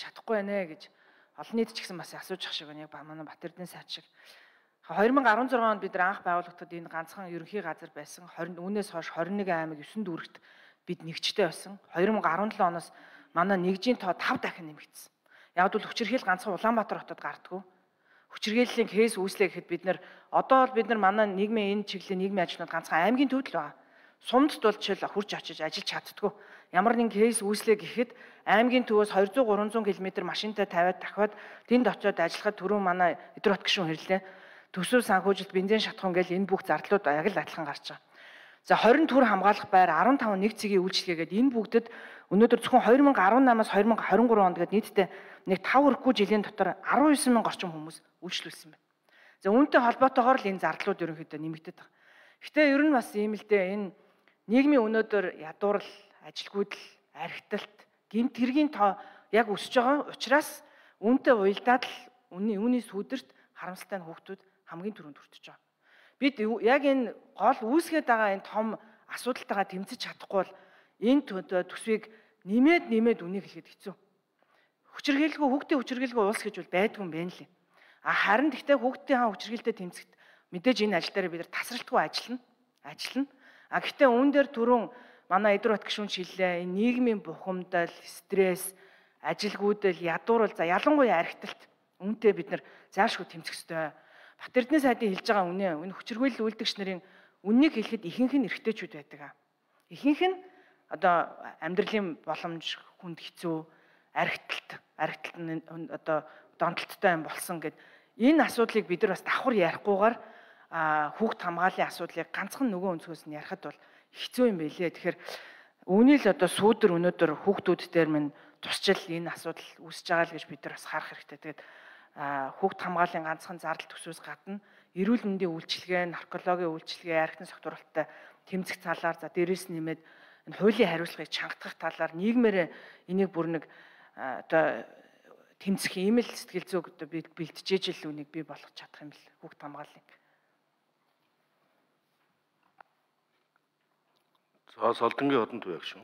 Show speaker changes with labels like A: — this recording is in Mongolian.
A: чадахгүй байна гэж олон нийт ч гэсэн бас асууж ах шиг байна. Яг манай Батэрдэн сайд шиг. 2016 онд бид нар анх байгуулагдахад энэ ганцхан ерөнхий газар байсан. Үүнээс хойш 21 аймаг 9 дүүрэгт бид нэгжтэй байсан. 2017 оноос манай нэгжийн тоо 5 дахин нэмэгдсэн. Яг бол хүчирхийл ганцхан Улаанбаатар хотод гардггүй. Хүчирхийллийн кейс үүслэ гэхэд бид нар одоо бол бид нар манай нийгмийн энэ чиглэлийн нийгмийн ажлууд ганцхан аймгийн төвд л байна. Сумдд бол чил хурж очиж ажиллаж чаддгүй. Ямар нэгэн кейс үүслэ гэхэд аймгийн төвөөс 200 300 км машинтай тавиад дахиад тэнд очиод ажиллахад түрүү манай Идрот гишүүн хэрлээ. Төсөв санхүүжилт бензин шатхан гэл энэ бүх зардлууд яг л адилхан гарч байгаа. За 20 төр хамгаалах байр 15 нэг цэгийн үйлчлэгээгээд энэ бүгдэд өнөөдөр зөвхөн 2018-аас 2023 онд гээд нийтдээ нэг 5 өрхгүй жилийн дотор 19 мянган орчим хүмүүс үйлчлүүлсэн байна. За үүнтэй холбоотойгоор л энэ зардлууд ерөнхийдөө нэмэгдээд байгаа. Гэтэ ер нь бас ийм л дээ энэ нийгмийн өнөөдөр ядуурл, ажилгүйдэл, архиталт, гэмт хэргийн тоо яг өсөж байгаа учраас үүнтэй уялдаад л үүний сүдэрт харамсалтай нь хүүхдүүд хамгийн түрүүнд хүртэж байгаа. Бид яг энэ гол үүсгээд байгаа энэ том асуудалтайгаа тэмцэж чадахгүй бол энэ төсвийг нэмээд үнийг хэлэхэд хэцүү. Хүчирхийлгүй хүүхдийн хүчирхийлгүй улс гэж бол байдгүй юм байна лээ. Харин гэхдээ хүүхдийн хаан хүчирхийлэлтэй тэмцэхэд мэдээж энэ ажил дээр бид нар тасралтгүй ажиллана. Гэхдээ үүн дээр түрүүн манай Идрот гишүүн шиллээ энэ нийгмийн бухимдал, стресс, ажилгүйдэл, ядуурл за ялангуяа архиталт үүнтэй бид нар заашгүй тэмцэх ёстой. Батэрдэн сайдын хэлж байгаа үнэ хүчирхийлэл үйлдэгч нарын үннийг хэлэхэд ихэнх нь эрэгтэйчүүд байдаг. Ихэнх нь одоо амьдралын боломж хүнд хэцүү, архиталт нь одоо донтолттой юм болсон гэд энэ асуудлыг бид нар бас давхар ярихгүйгээр хүүхд хамгааллын асуудлыг ганцхан нөгөө өнцгөөс нь ярихад бол хэцүү юм байлээ. Тэгэхээр үүний л одоо сүүдэр өнөөдөр хүүхдүүд дээр минь тусчил энэ асуудал үүсэж байгаа л гэж бид нар бас харах хэрэгтэй. Тэгээд хүүхд хамгааллын ганцхан зардал төсвөөс гадна эрүүл мэндийн үйлчилгээ, наркологийн үйлчилгээ, архитектурын согтууруулалттай тэмцэх талаар за дээрээс нэмээд энэ хуулийн хариуцлагыг чангатгах талаар нийгмээр энийг бүр нэг одоо тэмцэх ийм л сэтгэл зүйг одоо бэлтжээж л үнийг бий болгох чадах юм бэл хүүхд хамгааллыг.
B: За Солдонгийн одон төв яг шүү.